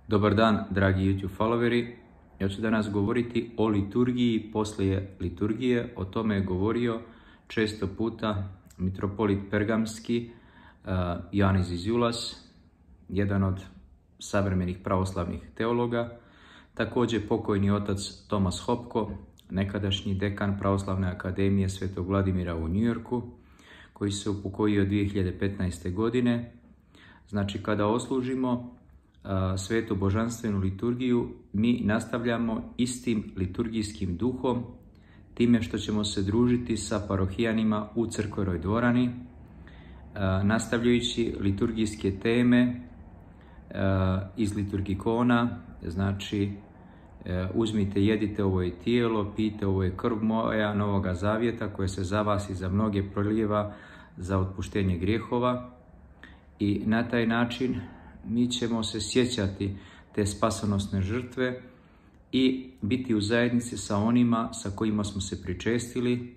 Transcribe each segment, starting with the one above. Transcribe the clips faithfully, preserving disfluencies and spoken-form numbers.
Dobar dan, dragi YouTube followeri. Ja ću danas govoriti o liturgiji poslije liturgije. O tome je govorio često puta mitropolit Pergamski, uh, Ioannis Zizioulas, jedan od savremenih pravoslavnih teologa. Također pokojni otac Thomas Hopko, nekadašnji dekan Pravoslavne akademije Svetog Vladimira u New Yorku, koji se upokojio dvije hiljade petnaeste. godine. Znači, kada oslužimo svetu božanstvenu liturgiju, mi nastavljamo istim liturgijskim duhom, time što ćemo se družiti sa parohijanima u crkvenoj dvorani, nastavljajući liturgijske teme iz liturgikona, znači uzmite, jedite, ovo je tijelo, pijte, ovo je krv moja novoga zavjeta, koje se za vas i za mnoge prolijeva za otpuštenje grijehova. I na taj način mi ćemo se sjećati te spasonosne žrtve i biti u zajednici sa onima sa kojima smo se pričestili.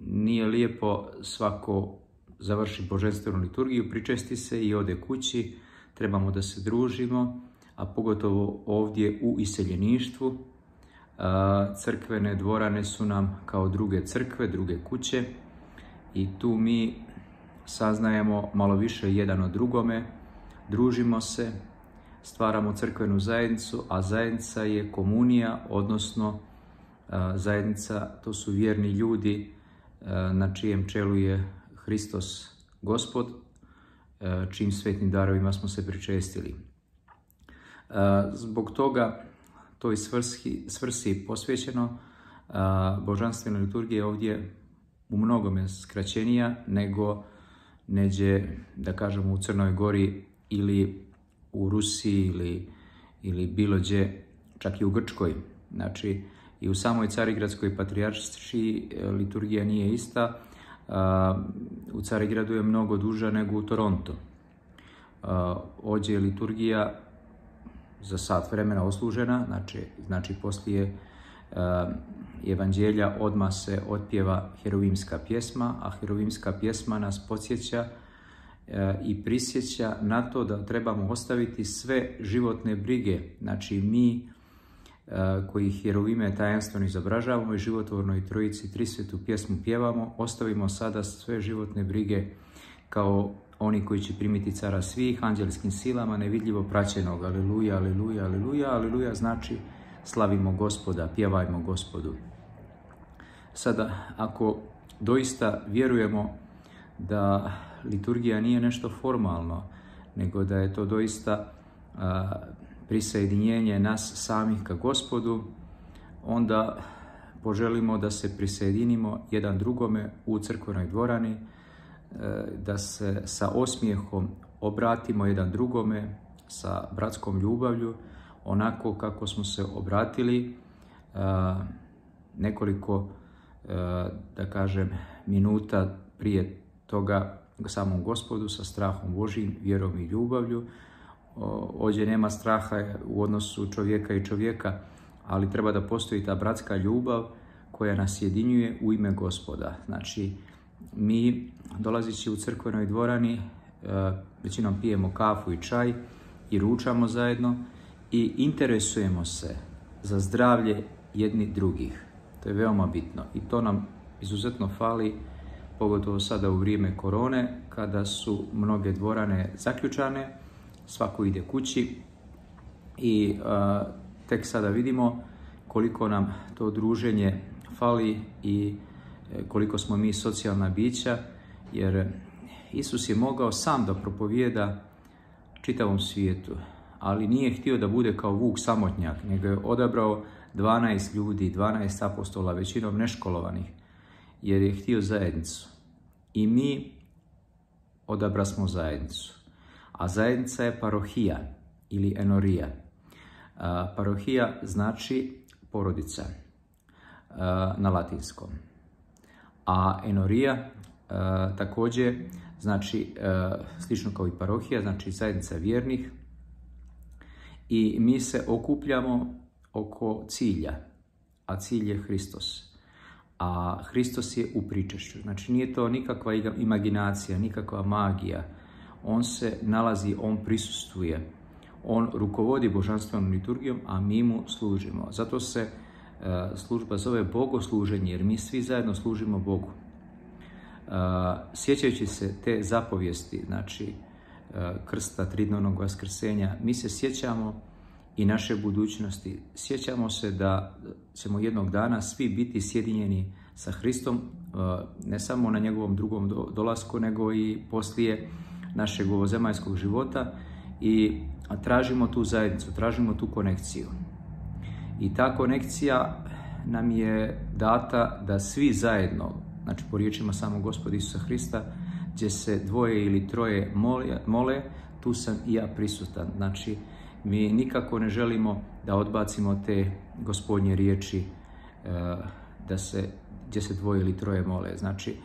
Nije lijepo svako završi božanstvenu liturgiju, pričesti se i ode kući. Trebamo da se družimo, a pogotovo ovdje u iseljeništvu. Crkvene dvorane su nam kao druge crkve, druge kuće i tu mi saznajemo malo više jedan o drugome, družimo se, stvaramo crkvenu zajednicu, a zajednica je komunija, odnosno zajednica, to su vjerni ljudi na čijem čelu je Hristos Gospod, čijim svetnim darovima smo se pričestili. Zbog toga toj svrsi, svrsi posvećeno, božanstvena liturgija je ovdje u mnogome skraćenija nego neđe, da kažemo, u Crnoj Gori ili u Rusiji ili, ili bilo gdje, čak i u Grčkoj. Znači, i u samoj Carigradskoj patrijaršiji liturgija nije ista. U Carigradu je mnogo duža nego u Toronto. Ovdje je liturgija za sat vremena oslužena, znači, znači poslije evanđelja odmah se otpjeva heruvimska pjesma, a heruvimska pjesma nas podsjeća i prisjeća na to da trebamo ostaviti sve životne brige. Znači, mi koji heruvime tajanstveno izobražavamo i životvornoj trojici trisvetu pjesmu pjevamo, ostavimo sada sve životne brige kao oni koji će primiti cara svih, anđelskim silama nevidljivo praćenog. Aleluja, aleluja, aleluja, aleluja znači slavimo Gospoda, pjevajmo Gospodu. Sada, ako doista vjerujemo da liturgija nije nešto formalno, nego da je to doista a, prisajedinjenje nas samih ka Gospodu, onda poželimo da se prisajedinimo jedan drugome u crkvenoj dvorani, da se sa osmijehom obratimo jedan drugome, sa bratskom ljubavlju, onako kako smo se obratili a, nekoliko, a, da kažem, minuta prije toga samom Gospodu, sa strahom Božjim, vjerom i ljubavlju. Ovdje nema straha u odnosu čovjeka i čovjeka, ali treba da postoji ta bratska ljubav koja nas jedinjuje u ime Gospoda. Znači, mi dolazeći u crkvenoj dvorani većinom pijemo kafu i čaj i ručamo zajedno i interesujemo se za zdravlje jedni drugih. To je veoma bitno i to nam izuzetno fali, pogotovo sada u vrijeme korone, kada su mnoge dvorane zaključane, svako ide kući i a, tek sada vidimo koliko nam to druženje fali i koliko smo mi socijalna bića, jer Isus je mogao sam da propovijeda čitavom svijetu, ali nije htio da bude kao vuk samotnjak, nego je odabrao dvanaest ljudi, dvanaest apostola, većinom neškolovanih, jer je htio zajednicu. I mi odabrasmo zajednicu. A zajednica je parohija ili enorija. A, parohija znači porodica a, na latinskom. A enorija a, također znači a, slično kao i parohija, znači zajednica vjernih. I mi se okupljamo oko cilja, a cilj je Hristos. A Hristos je u pričešću. Znači, nije to nikakva imaginacija, nikakva magija. On se nalazi, on prisustvuje On rukovodi božanstvenom liturgijom, a mi mu služimo. Zato se služba zove bogosluženje, jer mi svi zajedno služimo Bogu. Sjećajući se te zapovijesti, znači krsta, tridnevnog vaskrsenja, mi se sjećamo i naše budućnosti. Sjećamo se da ćemo jednog dana svi biti sjedinjeni sa Hristom, ne samo na njegovom drugom dolasku, nego i poslije našeg ovozemaljskog života, i tražimo tu zajednicu, tražimo tu konekciju. I ta konekcija nam je data da svi zajedno, znači po riječima samog Gospoda Isusa Hrista, gdje se dvoje ili troje mole, mole, tu sam i ja prisutan. Znači, mi nikako ne želimo da odbacimo te Gospodnje riječi da se, gdje se dvoje ili troje mole. Znači,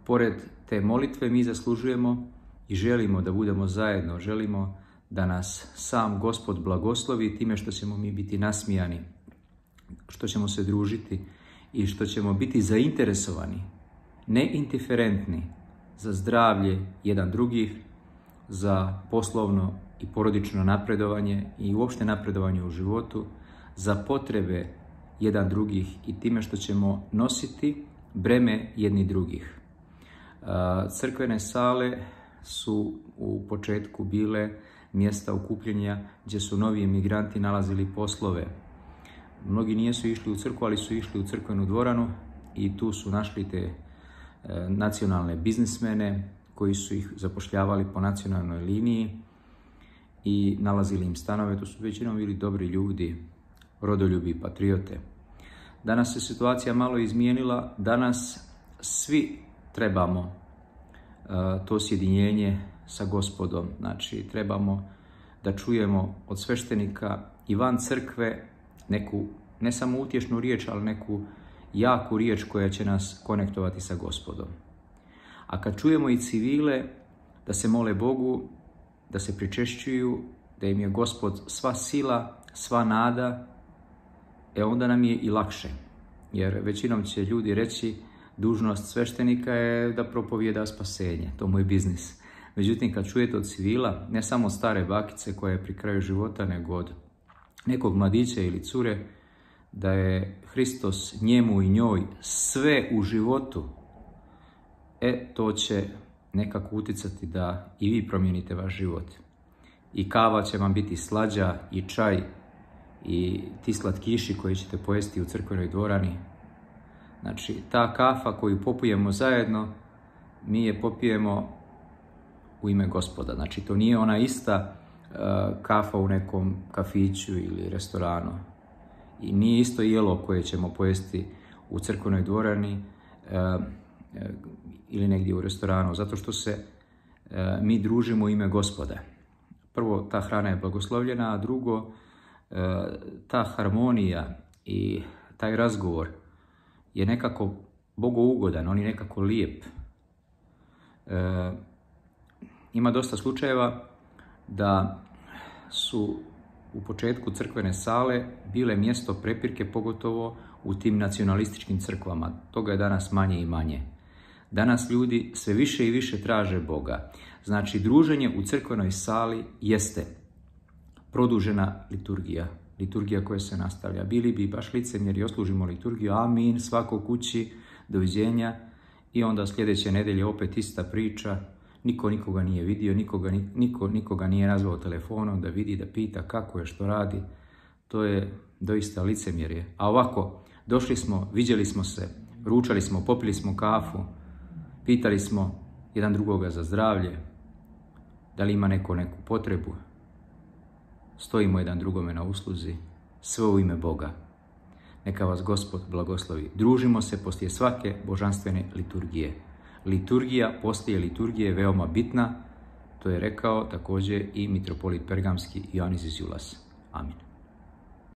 pored te molitve mi zaslužujemo i želimo da budemo zajedno, želimo da nas sam Gospod blagoslovi time što ćemo mi biti nasmijani, što ćemo se družiti i što ćemo biti zainteresovani, ne indiferentni, za zdravlje jedan drugih, za poslovno i porodično napredovanje i uopšte napredovanje u životu, za potrebe jedan drugih i time što ćemo nositi breme jedni drugih. Crkvene sale su u početku bile mjesta okupljenja gdje su novi emigranti nalazili poslove. Mnogi nisu išli u crkvu, ali su išli u crkvenu dvoranu i tu su našli te e, nacionalne biznismene koji su ih zapošljavali po nacionalnoj liniji i nalazili im stanove. To su većinom bili dobri ljudi, rodoljubi, patriote. Danas se situacija malo izmijenila. Danas svi trebamo e, to sjedinjenje sa Gospodom. Znači, trebamo da čujemo od sveštenika i van crkve neku, ne samo utješnu riječ, ali neku jaku riječ koja će nas konektovati sa Gospodom. A kad čujemo i civile da se mole Bogu, da se pričešćuju, da im je Gospod sva sila, sva nada, e onda nam je i lakše. Jer većinom će ljudi reći, dužnost sveštenika je da propovijeda spasenje, to mu je biznis. Međutim, kad čujete od civila, ne samo od stare bakice koja je pri kraju života, nego od nekog mladića ili cure, da je Hristos njemu i njoj sve u životu, e, to će nekako uticati da i vi promijenite vaš život. I kava će vam biti slađa, i čaj, i ti slatkiši koji ćete pojesti u crkvenoj dvorani. Znači, ta kafa koju popijemo zajedno, mi je popijemo u ime Gospoda. Znači, to nije ona ista uh, kafa u nekom kafiću ili restoranu. I nije isto jelo koje ćemo pojesti u crkvenoj dvorani uh, uh, ili negdje u restoranu, zato što se uh, mi družimo u ime Gospoda. Prvo, ta hrana je blagoslovljena, a drugo, uh, ta harmonija i taj razgovor je nekako bogougodan, on je nekako lijep. Uh, Ima dosta slučajeva da su u početku crkvene sale bile mjesto prepirke, pogotovo u tim nacionalističkim crkvama. Toga je danas manje i manje. Danas ljudi sve više i više traže Boga. Znači, druženje u crkvenoj sali jeste produžena liturgija. Liturgija koja se nastavlja. Bili bi baš licemjeri, oslužimo liturgiju, amin, svako kući, doviđenja, i onda sljedeće nedelje opet ista priča. Niko nikoga nije vidio, nikoga, niko, nikoga nije nazvao telefonom da vidi, da pita kako je, što radi. To je doista licemjerje. A ovako, došli smo, viđeli smo se, ručali smo, popili smo kafu, pitali smo jedan drugoga za zdravlje, da li ima neko neku potrebu. Stojimo jedan drugome na usluzi, sve u ime Boga. Neka vas Gospod blagoslovi. Družimo se poslije svake božanstvene liturgije. Liturgija, poslije liturgije je veoma bitna, to je rekao također i mitropolit Pergamski Ioannis iz Julas. Amin.